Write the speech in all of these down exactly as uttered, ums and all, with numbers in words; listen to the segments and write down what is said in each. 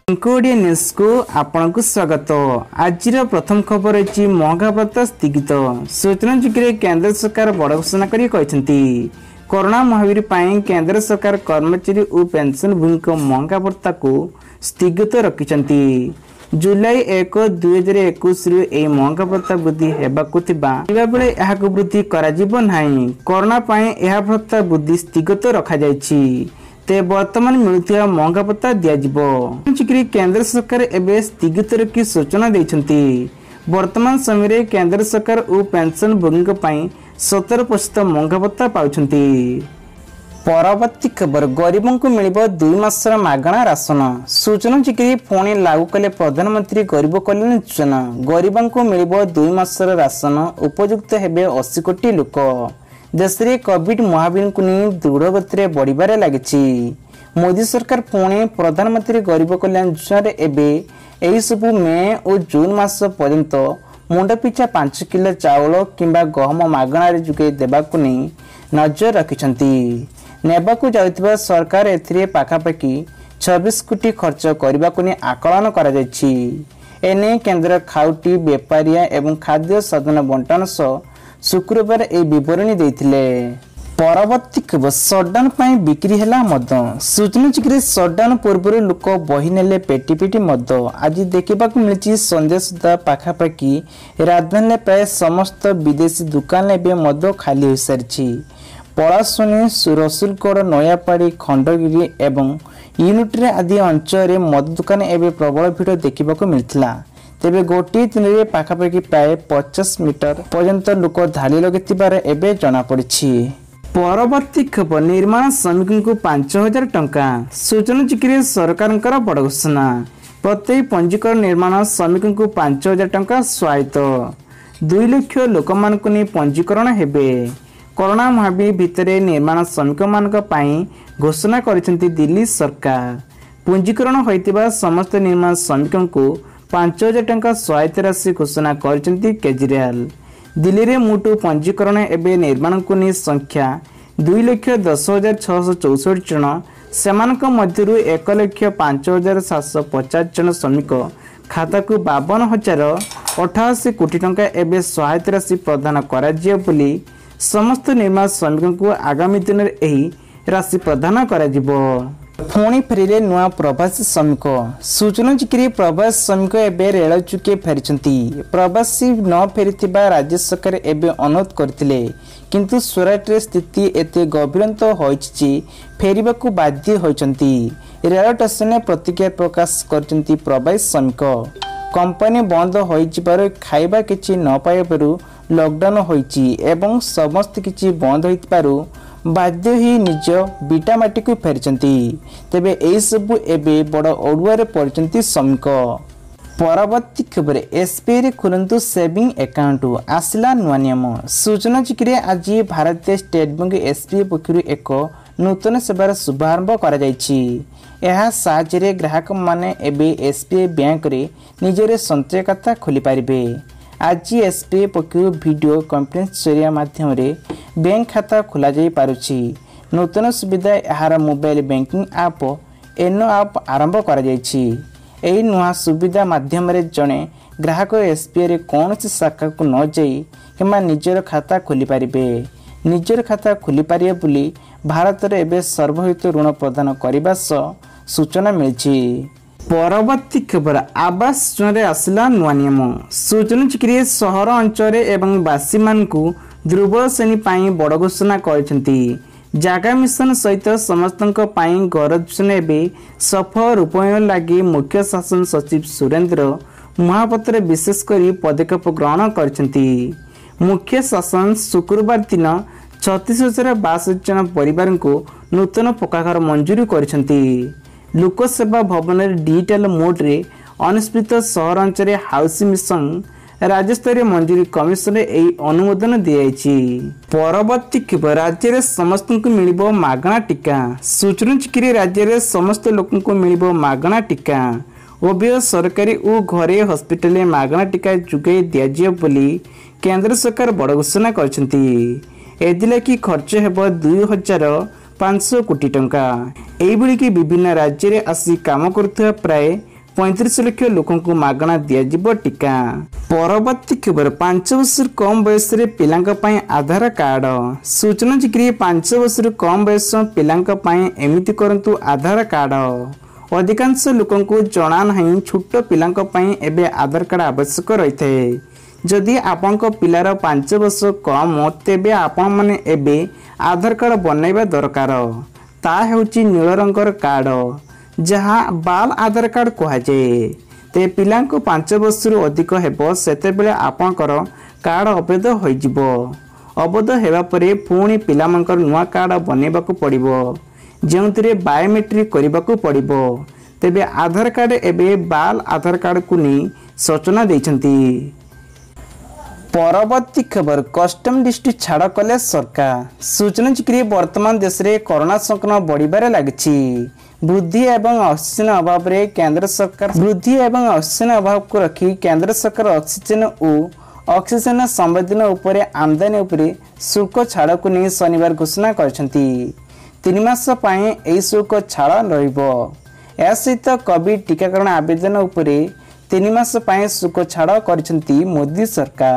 ଓଡ଼ିଆ ନ୍ୟୁଜ୍କୁ ଆପଣଙ୍କୁ ସ୍ୱାଗତ। ଆଜିର ପ୍ରଥମ ଖବର ଅଛି, ମହଙ୍ଗା ଭତ୍ତା ସ୍ଥଗିତ। ସୂଚନାଯୋଗ୍ୟରେ କେନ୍ଦ୍ର ସରକାର ବଡ଼ ଘୋଷଣା କରି କହିଛନ୍ତି, କରୋନା ମହାମାରୀ ପାଇଁ କେନ୍ଦ୍ର ସରକାର କର୍ମଚାରୀ ଓ ପେନ୍ସନଭୋଗୀଙ୍କ ମହଙ୍ଗା ଭତ୍ତାକୁ ସ୍ଥଗିତ ରଖିଛନ୍ତି। ଜୁଲାଇ ଏକ ଦୁଇ ହଜାର ଏକୋଇଶରୁ ଏହି ମହଙ୍ଗା ଭତ୍ତା ବୃଦ୍ଧି ହେବାକୁ ଥିବା ବେଳେ ଏହାକୁ ବୃଦ୍ଧି କରାଯିବ ନାହିଁ। କରୋନା ପାଇଁ ଏହା ଭତ୍ତା ବୃଦ୍ଧି ସ୍ଥଗିତ ରଖାଯାଇଛି। ତେବେ ବର୍ତ୍ତମାନ ମିଳୁଥିବା ମହଙ୍ଗା ଭତ୍ତା ଦିଆଯିବ। କେନ୍ଦ୍ର ସରକାର ଏବେ ସ୍ଥଗିତ ରଖି ସୂଚନା ଦେଇଛନ୍ତି। ବର୍ତ୍ତମାନ ସମୟରେ କେନ୍ଦ୍ର ସରକାର ଓ ପେନ୍ସନଭୋଗୀଙ୍କ ପାଇଁ ସତର ପ୍ରତିଶତ ମହଙ୍ଗା ଭତ୍ତା ପାଉଛନ୍ତି। ପରବର୍ତ୍ତୀ ଖବର, ଗରିବଙ୍କୁ ମିଳିବ ଦୁଇ ମାସର ମାଗଣା ରାସନ। ସୂଚନାଯୋଗ୍ୟ, ପୁଣି ଲାଗୁ କଲେ ପ୍ରଧାନମନ୍ତ୍ରୀ ଗରିବ କଲ୍ୟାଣ ଯୋଜନା। ଗରିବଙ୍କୁ ମିଳିବ ଦୁଇ ମାସର ରାସନ, ଉପଯୁକ୍ତ ହେବେ ଅଶୀ କୋଟି ଲୋକ। ଦେଶରେ କୋଭିଡ ମହାମାରୀକୁ ନେଇ ଦୃଢ଼ ଗତିରେ ବଢ଼ିବାରେ ଲାଗିଛି। ମୋଦି ସରକାର ପୁଣି ପ୍ରଧାନମନ୍ତ୍ରୀ ଗରିବ କଲ୍ୟାଣ ଯୋଜନାରେ ଏବେ ଏହିସବୁ ମେ ଓ ଜୁନ୍ ମାସ ପର୍ଯ୍ୟନ୍ତ ମୁଣ୍ଡ ପିଛା ପାଞ୍ଚ କିଲୋ ଚାଉଳ କିମ୍ବା ଗହମ ମାଗଣାରେ ଯୋଗାଇ ଦେବାକୁ ନେଇ ନଜର ରଖିଛନ୍ତି। ନେବାକୁ ଯାଉଥିବା ସରକାର ଏଥିରେ ପାଖାପାଖି ଛବିଶ କୋଟି ଖର୍ଚ୍ଚ କରିବାକୁ ନେଇ ଆକଳନ କରାଯାଇଛି। ଏନେଇ କେନ୍ଦ୍ର ଖାଉଟି ବେପାରିଆ ଏବଂ ଖାଦ୍ୟ ସାଧନ ବଣ୍ଟନ ସହ ଶୁକ୍ରବାର ଏହି ବିବରଣୀ ଦେଇଥିଲେ। ପରବର୍ତ୍ତୀ ଖବର, ସଟଡାଉନ ପାଇଁ ବିକ୍ରି ହେଲା ମଦ। ସୂଚନାଯୋଗ୍ୟରେ ସଟଡାଉନ ପୂର୍ବରୁ ଲୋକ ବହି ନେଲେ ପେଟି ପେଟି ମଦ। ଆଜି ଦେଖିବାକୁ ମିଳିଛି, ସନ୍ଧ୍ୟା ସୁଦ୍ଧା ପାଖାପାଖି ରାଜଧାନୀରେ ପ୍ରାୟ ସମସ୍ତ ବିଦେଶୀ ଦୋକାନ ଏବେ ମଦ ଖାଲି ହୋଇସାରିଛି। ପଳାଶୁଣି, ରସୁଲଗଡ଼, ନୟାପାଡ଼ି, ଖଣ୍ଡଗିରି ଏବଂ ୟୁନିଟ୍ରେ ଆଦି ଅଞ୍ଚଳରେ ମଦ ଦୋକାନ ଏବେ ପ୍ରବଳ ଭିଡ଼ ଦେଖିବାକୁ ମିଳିଥିଲା। ତେବେ ଗୋଟିଏ ଦିନରେ ପାଖାପାଖି ପ୍ରାୟ ପଚାଶ ମିଟର ପର୍ଯ୍ୟନ୍ତ ଲୋକ ଧାଡ଼ି ଲଗାଇଥିବାର ଏବେ ଜଣାପଡ଼ିଛି। ପରବର୍ତ୍ତୀ ଖବର, ନିର୍ମାଣ ଶ୍ରମିକଙ୍କୁ ପାଞ୍ଚ ହଜାର ଟଙ୍କା। ସୂଚନାଯୋଗ୍ୟରେ ସରକାରଙ୍କର ବଡ଼ ଘୋଷଣା, ପ୍ରତ୍ୟେକ ପଞ୍ଜୀକରଣ ନିର୍ମାଣ ଶ୍ରମିକଙ୍କୁ ପାଞ୍ଚ ହଜାର ଟଙ୍କା ସହାୟତା। ଦୁଇ ଲକ୍ଷ ଲୋକମାନଙ୍କୁ ନେଇ ପଞ୍ଜୀକରଣ ହେବେ। କରୋନା ମହାମାରୀ ଭିତରେ ନିର୍ମାଣ ଶ୍ରମିକମାନଙ୍କ ପାଇଁ ଘୋଷଣା କରିଛନ୍ତି ଦିଲ୍ଲୀ ସରକାର। ପଞ୍ଜୀକରଣ ହୋଇଥିବା ସମସ୍ତ ନିର୍ମାଣ ଶ୍ରମିକଙ୍କୁ ପାଞ୍ଚ ହଜାର ଟଙ୍କା ସହାୟତା ରାଶି ଘୋଷଣା କରିଛନ୍ତି କେଜରିୱାଲ। ଦିଲ୍ଲୀରେ ମୋଟ ପଞ୍ଜୀକରଣ ଏବେ ନିର୍ମାଣକୁ ନେଇ ସଂଖ୍ୟା ଦୁଇ ଲକ୍ଷ ଦଶ ହଜାର ଛଅଶହ ଚଉଷଠି ଜଣ। ସେମାନଙ୍କ ମଧ୍ୟରୁ ଏକ ଲକ୍ଷ ପାଞ୍ଚ ହଜାର ସାତଶହ ପଚାଶ ଜଣ ଶ୍ରମିକ ଖାତାକୁ ବାବନ ହଜାର ଅଠାଅଶୀ କୋଟି ଟଙ୍କା ଏବେ ସହାୟତା ରାଶି ପ୍ରଦାନ କରାଯିବ ବୋଲି ସମସ୍ତ ନିର୍ମାଣ ଶ୍ରମିକଙ୍କୁ ଆଗାମୀ ଦିନରେ ଏହି ରାଶି ପ୍ରଦାନ କରାଯିବ। ପୁଣି ଫେରିଲେ ନୂଆ ପ୍ରବାସୀ ଶ୍ରମିକ। ସୂଚନାଯୋଗ୍ୟରେ ପ୍ରବାସୀ ଶ୍ରମିକ ଏବେ ରେଳ ଯୋଗେ ଫେରିଛନ୍ତି। ପ୍ରବାସୀ ନ ଫେରିଥିବା ରାଜ୍ୟ ସରକାର ଏବେ ଅନୁରୋଧ କରିଥିଲେ, କିନ୍ତୁ ସୁରାଟରେ ସ୍ଥିତି ଏତେ ଗଭୀରନ୍ତ ହୋଇଛି ଯେ ଫେରିବାକୁ ବାଧ୍ୟ ହୋଇଛନ୍ତି। ରେଳ ଷ୍ଟେସନରେ ପ୍ରତିକ୍ରିୟା ପ୍ରକାଶ କରିଛନ୍ତି ପ୍ରବାସୀ ଶ୍ରମିକ। କମ୍ପାନୀ ବନ୍ଦ ହୋଇଯିବାରୁ, ଖାଇବା କିଛି ନ ପାଇବାରୁ, ଲକଡାଉନ ହୋଇଛି ଏବଂ ସମସ୍ତ କିଛି ବନ୍ଦ ହୋଇଥିବାରୁ ବାଧ୍ୟ ହୋଇ ନିଜ ଭିଟାମାଟିକୁ ଫେରିଛନ୍ତି। ତେବେ ଏହିସବୁ ଏବେ ବଡ଼ ଅଡ଼ୁଆରେ ପଡ଼ିଛନ୍ତି ଶ୍ରମିକ। ପରବର୍ତ୍ତୀ ଖବର, ଏସ୍ବିଆଇରେ ଖୋଲନ୍ତୁ ସେଭିଂ ଆକାଉଣ୍ଟ, ଆସିଲା ନୂଆ ନିୟମ। ସୂଚନାଯୋଗ୍ୟରେ ଆଜି ଭାରତୀୟ ଷ୍ଟେଟ୍ ବ୍ୟାଙ୍କ ଏସ୍ବିଆଇ ପକ୍ଷରୁ ଏକ ନୂତନ ସେବାର ଶୁଭାରମ୍ଭ କରାଯାଇଛି। ଏହା ସାହାଯ୍ୟରେ ଗ୍ରାହକମାନେ ଏବେ ଏସ୍ବିଆଇ ବ୍ୟାଙ୍କରେ ନିଜର ସଞ୍ଚୟ ଖାତା ଖୋଲିପାରିବେ। ଆଜି ଏସ୍ବିଆଇ ପକ୍ଷରୁ ଭିଡ଼ିଓ କନଫରେନ୍ସ ଜରିଆ ମାଧ୍ୟମରେ ବ୍ୟାଙ୍କ ଖାତା ଖୋଲାଯାଇ ପାରୁଛି। ନୂତନ ସୁବିଧା ଏହାର ମୋବାଇଲ ବ୍ୟାଙ୍କିଂ ଆପ୍ ଏନୋ ଆପ୍ ଆରମ୍ଭ କରାଯାଇଛି। ଏହି ନୂଆ ସୁବିଧା ମାଧ୍ୟମରେ ଜଣେ ଗ୍ରାହକ ଏସ୍ବିଆଇରେ କୌଣସି ଶାଖାକୁ ନ ଯାଇ କିମ୍ବା ନିଜର ଖାତା ଖୋଲିପାରିବେ। ନିଜର ଖାତା ଖୋଲିପାରିବେ ବୋଲି ଭାରତରେ ଏବେ ସର୍ବହିତ ଋଣ ପ୍ରଦାନ କରିବା ସହ ସୂଚନା ମିଳିଛି। ପରବର୍ତ୍ତୀ ଖବର, ଆବାସ ଯୋଜନାରେ ଆସିଲା ନୂଆ ନିୟମ। ସୂଚନାଯୋଗ୍ୟରେ ସହର ଅଞ୍ଚଳରେ ଏବଂ ବାସୀମାନଙ୍କୁ ଦୁର୍ବଳ ଶ୍ରେଣୀ ପାଇଁ ବଡ଼ ଘୋଷଣା କରିଛନ୍ତି। ଜାଗା ମିଶନ ସହିତ ସମସ୍ତଙ୍କ ପାଇଁ ଘର ଯୋଜନା ଏବେ ସଫଳ ରୂପାୟନ ଲାଗି ମୁଖ୍ୟ ଶାସନ ସଚିବ ସୁରେନ୍ଦ୍ର ମହାପାତ୍ର ବିଶେଷ କରି ପଦକ୍ଷେପ ଗ୍ରହଣ କରିଛନ୍ତି। ମୁଖ୍ୟ ଶାସନ ଶୁକ୍ରବାର ଦିନ ଛତିଶ ହଜାର ବାଷଠି ଜଣ ପରିବାରଙ୍କୁ ନୂତନ ପକ୍କା ଘର ମଞ୍ଜୁରୀ କରିଛନ୍ତି। ଲୋକସେବା ଭବନରେ ଡିଜିଟାଲ ମୋଡରେ ଅନୁଷ୍ଠିତ ସହରାଞ୍ଚଳରେ ହାଉସିଂ ମିଶନ ରାଜ୍ୟସ୍ତରୀୟ ମଞ୍ଜୁରୀ କମିଶନରେ ଏହି ଅନୁମୋଦନ ଦିଆଯାଇଛି। ପରବର୍ତ୍ତୀ ଖବର, ରାଜ୍ୟରେ ସମସ୍ତଙ୍କୁ ମିଳିବ ମାଗଣା ଟିକା। ସୂଚନାଯୋଗ୍ୟରେ ରାଜ୍ୟରେ ସମସ୍ତ ଲୋକଙ୍କୁ ମିଳିବ ମାଗଣା ଟିକା। ଉଭୟ ସରକାରୀ ଓ ଘରୋଇ ହସ୍ପିଟାଲରେ ମାଗଣା ଟିକା ଯୋଗାଇ ଦିଆଯିବ ବୋଲି କେନ୍ଦ୍ର ସରକାର ବଡ଼ ଘୋଷଣା କରିଛନ୍ତି। ଏଥିଲାଗି ଖର୍ଚ୍ଚ ହେବ ଦୁଇ ହଜାର ପାଞ୍ଚଶହ କୋଟି ଟଙ୍କା। ଏଇଭଳିକି ବିଭିନ୍ନ ରାଜ୍ୟରେ ଆସି କାମ କରୁଥିବା ପ୍ରାୟ ପଇଁତିରିଶ ଲକ୍ଷ ଲୋକଙ୍କୁ ମାଗଣା ଦିଆଯିବ ଟିକା। ପରବର୍ତ୍ତୀ ଖବର, ପାଞ୍ଚ ବର୍ଷରୁ କମ୍ ବୟସରେ ପିଲାଙ୍କ ପାଇଁ ଆଧାର କାର୍ଡ। ସୂଚନାଯୋଗ୍ୟ, ପାଞ୍ଚ ବର୍ଷରୁ କମ୍ ବୟସ ପିଲାଙ୍କ ପାଇଁ ଏମିତି କରନ୍ତୁ ଆଧାର କାର୍ଡ। ଅଧିକାଂଶ ଲୋକଙ୍କୁ ଜଣା ନାହିଁ, ଛୋଟ ପିଲାଙ୍କ ପାଇଁ ଏବେ ଆଧାର କାର୍ଡ ଆବଶ୍ୟକ ରହିଥାଏ। ଯଦି ଆପଣଙ୍କ ପିଲାର ପାଞ୍ଚ ବର୍ଷ କମ୍, ତେବେ ଆପଣମାନେ ଏବେ ଆଧାର କାର୍ଡ ବନାଇବା ଦରକାର। ତା ହେଉଛି ନୀଳ ରଙ୍ଗର କାର୍ଡ, ଯାହା ବାଲ ଆଧାର କାର୍ଡ କୁହାଯାଏ। ତେବେ ପିଲାଙ୍କୁ ପାଞ୍ଚ ବର୍ଷରୁ ଅଧିକ ହେବ, ସେତେବେଳେ ଆପଣଙ୍କର କାର୍ଡ ଅବୈଧ ହୋଇଯିବ। ଅବୈଧ ହେବା ପରେ ପୁଣି ପିଲାମାନଙ୍କର ନୂଆ କାର୍ଡ ବନେଇବାକୁ ପଡ଼ିବ, ଯେଉଁଥିରେ ବାୟୋମେଟ୍ରିକ୍ କରିବାକୁ ପଡ଼ିବ। ତେବେ ଆଧାର କାର୍ଡ ଏବେ ବାଲ ଆଧାର କାର୍ଡକୁ ନେଇ ସୂଚନା ଦେଇଛନ୍ତି। ପରବର୍ତ୍ତୀ ଖବର, କଷ୍ଟମ ଡ୍ୟୁଟି ଛାଡ଼ କଲେ ସରକାର। ସୂଚନାଯୋଗ୍ୟ, ବର୍ତ୍ତମାନ ଦେଶରେ କରୋନା ସଂକ୍ରମଣ ବଢ଼ିବାରେ ଲାଗିଛି। ବୃଦ୍ଧି ଏବଂ ଅକ୍ସିଜେନ ଅଭାବରେ କେନ୍ଦ୍ର ସରକାର ବୃଦ୍ଧି ଏବଂ ଅକ୍ସିଜେନ ଅଭାବକୁ ରଖି କେନ୍ଦ୍ର ସରକାର ଅକ୍ସିଜେନ ଓ ଅକ୍ସିଜେନ ସମ୍ବନ୍ଧୀୟ ଉପରେ ଆମଦାନୀ ଉପରେ ଶୁଳ୍କ ଛାଡ଼କୁ ନେଇ ଶନିବାର ଘୋଷଣା କରିଛନ୍ତି। ତିନି ମାସ ପାଇଁ ଏହି ଶୁଳ୍କ ଛାଡ଼ ରହିବ। ଏହା ସହିତ କୋଭିଡ ଟିକାକରଣ ଆବେଦନ ଉପରେ ତିନି ମାସ ପାଇଁ ଶୁଳ୍କ ଛାଡ଼ କରିଛନ୍ତି ମୋଦି ସରକାର।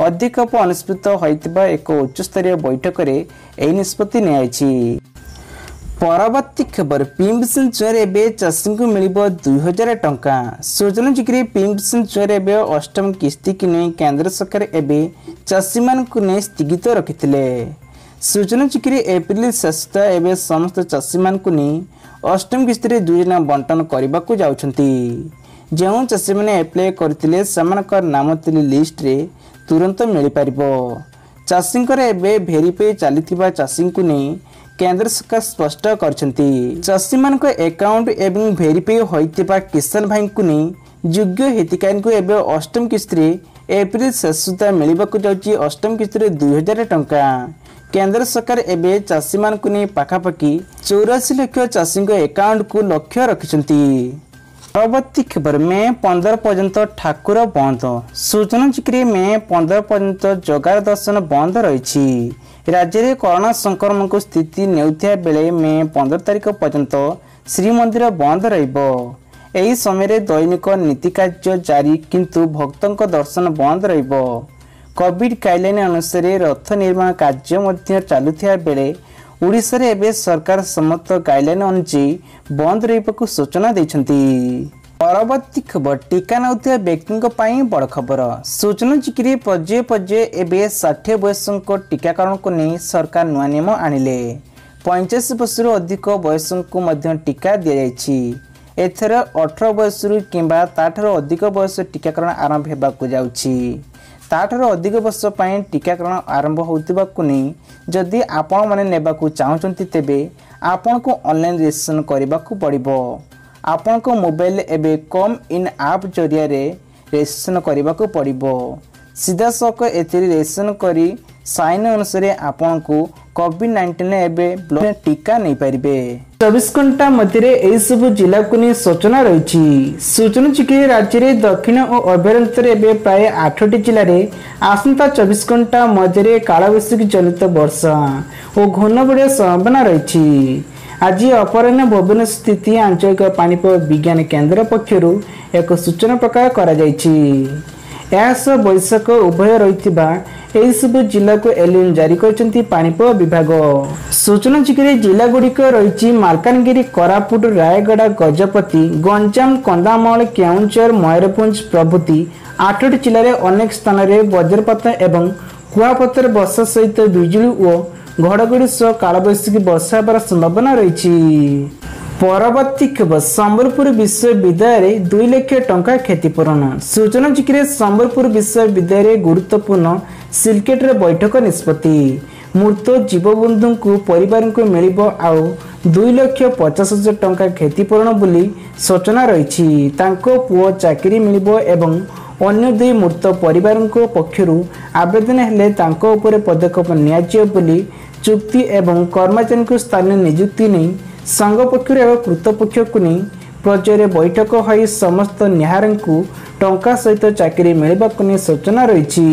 ଅଧିକ ଅନୁଷ୍ଠିତ ହୋଇଥିବା ଏକ ଉଚ୍ଚସ୍ତରୀୟ ବୈଠକରେ ଏହି ନିଷ୍ପତ୍ତି ନିଆଯାଇଛି। ପରବର୍ତ୍ତୀ ଖବର, ପିଏମ୍ କିଷାନ ଯୋଜନାରେ ଏବେ ଚାଷୀଙ୍କୁ ମିଳିବ ଦୁଇ ହଜାର ଟଙ୍କା। ସୂଚନାଯୋଗ୍ୟ, ପିଏମ୍ କିଷାନ ଯୋଜନାରେ ଏବେ ଅଷ୍ଟମ କିସ୍ତିକୁ ନେଇ କେନ୍ଦ୍ର ସରକାର ଏବେ ଚାଷୀମାନଙ୍କୁ ନେଇ ସ୍ଥଗିତ ରଖିଥିଲେ। ସୂଚନାଯୋଗ୍ୟ, ଏପ୍ରିଲ ଶେଷ ଏବେ ସମସ୍ତ ଚାଷୀମାନଙ୍କୁ ନେଇ ଅଷ୍ଟମ କିସ୍ତିରେ ଦୁଇ ଜଣ ବଣ୍ଟନ କରିବାକୁ ଯାଉଛନ୍ତି। ଯେଉଁ ଚାଷୀମାନେ ଆପ୍ଲାଏ କରିଥିଲେ, ସେମାନଙ୍କ ନାମ ଥିଲେ ଲିଷ୍ଟରେ ତୁରନ୍ତ ମିଳିପାରିବ। ଚାଷୀଙ୍କର ଏବେ ଭେରିଫାଇ ଚାଲିଥିବା ଚାଷୀଙ୍କୁ ନେଇ କେନ୍ଦ୍ର ସରକାର ସ୍ପଷ୍ଟ କରିଛନ୍ତି। ଚାଷୀମାନଙ୍କ ଆକାଉଣ୍ଟ ଏବଂ ଭେରିଫାଇ ହୋଇଥିବା କିଷାନ ଭାଇଙ୍କୁ ନେଇ ଯୋଗ୍ୟ ହିତାଧିକାରୀଙ୍କୁ ଏବେ ଅଷ୍ଟମ କିସ୍ତିରେ ଏପ୍ରିଲ ଶେଷ ସୁଦ୍ଧା ମିଳିବାକୁ ଯାଉଛି ଅଷ୍ଟମ କିସ୍ତିରେ ଦୁଇ ହଜାର ଟଙ୍କା। କେନ୍ଦ୍ର ସରକାର ଏବେ ଚାଷୀମାନଙ୍କୁ ନେଇ ପାଖାପାଖି ଚଉରାଅଶୀ ଲକ୍ଷ ଚାଷୀଙ୍କ ଆକାଉଣ୍ଟକୁ ଲକ୍ଷ୍ୟ ରଖିଛନ୍ତି। ପରବର୍ତ୍ତୀ ଖବର, ମେ ପନ୍ଦର ପର୍ଯ୍ୟନ୍ତ ଠାକୁର ବନ୍ଦ। ସୂଚନାଯୋଗ୍ୟ, ମେ ପନ୍ଦର ପର୍ଯ୍ୟନ୍ତ ଜଗାର ଦର୍ଶନ ବନ୍ଦ ରହିଛି। ରାଜ୍ୟରେ କରୋନା ସଂକ୍ରମଣକୁ ସ୍ଥିତି ନେଉଥିବା ବେଳେ ମେ ପନ୍ଦର ତାରିଖ ପର୍ଯ୍ୟନ୍ତ ଶ୍ରୀମନ୍ଦିର ବନ୍ଦ ରହିବ। ଏହି ସମୟରେ ଦୈନିକ ନୀତି କାର୍ଯ୍ୟ ଜାରି, କିନ୍ତୁ ଭକ୍ତଙ୍କ ଦର୍ଶନ ବନ୍ଦ ରହିବ। କୋଭିଡ ଗାଇଡଲାଇନ ଅନୁସାରେ ରଥ ନିର୍ମାଣ କାର୍ଯ୍ୟ ମଧ୍ୟ ଚାଲୁଥିବା ବେଳେ ଓଡ଼ିଶାରେ ଏବେ ସରକାର ସମସ୍ତ ଗାଇଡଲାଇନ ଅନୁଯାୟୀ ବନ୍ଦ ରହିବାକୁ ସୂଚନା ଦେଇଛନ୍ତି। ପରବର୍ତ୍ତୀ ଖବର, ଟିକା ନେଉଥିବା ବ୍ୟକ୍ତିଙ୍କ ପାଇଁ ବଡ଼ ଖବର। ସୂଚନାଯୋଗ୍ୟ, ପର୍ଯ୍ୟାୟ ପର୍ଯ୍ୟାୟ ଏବେ ଷାଠିଏ ବୟସଙ୍କ ଟିକାକରଣକୁ ନେଇ ସରକାର ନୂଆ ନିୟମ ଆଣିଲେ। ପଇଁଚାଳିଶ ବର୍ଷରୁ ଅଧିକ ବୟସଙ୍କୁ ମଧ୍ୟ ଟିକା ଦିଆଯାଇଛି। ଏଥର ଅଠର ବୟସରୁ କିମ୍ବା ତାଠାରୁ ଅଧିକ ବୟସ ଟିକାକରଣ ଆରମ୍ଭ ହେବାକୁ ଯାଉଛି। ତାଠାରୁ ଅଧିକ ବର୍ଷ ପାଇଁ ଟିକାକରଣ ଆରମ୍ଭ ହେଉଥିବାକୁ ନେଇ ଯଦି ଆପଣମାନେ ନେବାକୁ ଚାହୁଁଛନ୍ତି, ତେବେ ଆପଣଙ୍କୁ ଅନଲାଇନ୍ ରେଜିଷ୍ଟ୍ରେସନ କରିବାକୁ ପଡ଼ିବ। ଆପଣଙ୍କ ମୋବାଇଲରେ ଏବେ କମ୍ ଇନ୍ ଆପ୍ ଜରିଆରେ ରେଜିଷ୍ଟ୍ରେସନ କରିବାକୁ ପଡ଼ିବ। ସିଧାସଳଖ ଏଥିରେ ରେଜିଷ୍ଟ୍ରେସନ କରି ସାଇନ୍ ଅନୁସାରେ ଆପଣଙ୍କୁ କୋଭିଡ ନାଇଣ୍ଟିନ୍ ଏବେ ଟିକା ନେଇପାରିବେ। ଚବିଶ ଘଣ୍ଟା ମଧ୍ୟରେ ଏହିସବୁ ଜିଲ୍ଲାକୁ ନେଇ ସୂଚନା ରହିଛି। ସୂଚନାଯୋଗ୍ୟ, ରାଜ୍ୟରେ ଦକ୍ଷିଣ ଓ ଅଭ୍ୟନ୍ତରରେ ଏବେ ପ୍ରାୟ ଆଠଟି ଜିଲ୍ଲାରେ ଆସନ୍ତା ଚବିଶ ଘଣ୍ଟା ମଧ୍ୟରେ କାଳବୈଶାଖୀ ଜନିତ ବର୍ଷା ଓ ଘୂର୍ଣ୍ଣିଝଡ଼ ସମ୍ଭାବନା ରହିଛି। ଆଜି ଅପରାହ୍ନ ଭୁବନେଶ୍ୱର ସ୍ଥିତି ଆଞ୍ଚଳିକ ପାଣିପାଗ ବିଜ୍ଞାନ କେନ୍ଦ୍ର ପକ୍ଷରୁ ଏକ ସୂଚନା ପ୍ରକାଶ କରାଯାଇଛି। ଏହା ସହ ବୈଶାଖ ଉଭୟ ରହିଥିବା ଏହିସବୁ ଜିଲ୍ଲାକୁ ଏଲିନ୍ ଜାରି କରିଛନ୍ତି ପାଣିପାଗ ବିଭାଗ। ସୂଚନାଯୋଗ୍ୟ, ଜିଲ୍ଲାଗୁଡ଼ିକ ରହିଛି ମାଲକାନଗିରି, କୋରାପୁଟ, ରାୟଗଡ଼ା, ଗଜପତି, ଗଞ୍ଜାମ, କନ୍ଧମାଳ, କେଉଁଝର, ମୟୂରଭଞ୍ଜ ପ୍ରଭୃତି ଆଠଟି ଜିଲ୍ଲାରେ ଅନେକ ସ୍ଥାନରେ ବଜ୍ରପାତ ଏବଂ କୁଆପଥର ବର୍ଷା ସହିତ ବିଜୁଳି ଓ ଘଡ଼ଘଡ଼ି ସହ କାଳବୈଶାଖୀ ବର୍ଷା ହେବାର ସମ୍ଭାବନା ରହିଛି। ପରବର୍ତ୍ତୀ ଖବର, ସମ୍ବଲପୁର ବିଶ୍ୱବିଦ୍ୟାଳୟରେ ଦୁଇ ଲକ୍ଷ ଟଙ୍କା କ୍ଷତିପୂରଣ। ସୂଚନାଯୋଗ୍ୟ, ସମ୍ବଲପୁର ବିଶ୍ୱବିଦ୍ୟାଳୟରେ ଗୁରୁତ୍ୱପୂର୍ଣ୍ଣ ସିଲକେଟର ବୈଠକ ନିଷ୍ପତ୍ତି। ମୃତ ଜୀବବନ୍ଧୁଙ୍କୁ ପରିବାରଙ୍କୁ ମିଳିବ ଆଉ ଦୁଇ ଲକ୍ଷ ପଚାଶ ହଜାର ଟଙ୍କା କ୍ଷତିପୂରଣ ବୋଲି ସୂଚନା ରହିଛି। ତାଙ୍କ ପୁଅ ଚାକିରି ମିଳିବ ଏବଂ ଅନ୍ୟ ଦୁଇ ମୃତ ପରିବାରଙ୍କ ପକ୍ଷରୁ ଆବେଦନ ହେଲେ ତାଙ୍କ ଉପରେ ପଦକ୍ଷେପ ନିଆଯିବ ବୋଲି ଚୁକ୍ତି ଏବଂ କର୍ମଚାରୀଙ୍କୁ ସ୍ଥାନୀୟ ନିଯୁକ୍ତି ନେଇ ସଂଘ ପକ୍ଷରୁ ଏକ କର୍ତ୍ତୃପକ୍ଷକୁ ନେଇ ପର୍ଯ୍ୟାୟରେ ବୈଠକ ହୋଇ ସମସ୍ତ ନିହାରଙ୍କୁ ଟଙ୍କା ସହିତ ଚାକିରି ମିଳିବାକୁ ନେଇ ସୂଚନା ରହିଛି।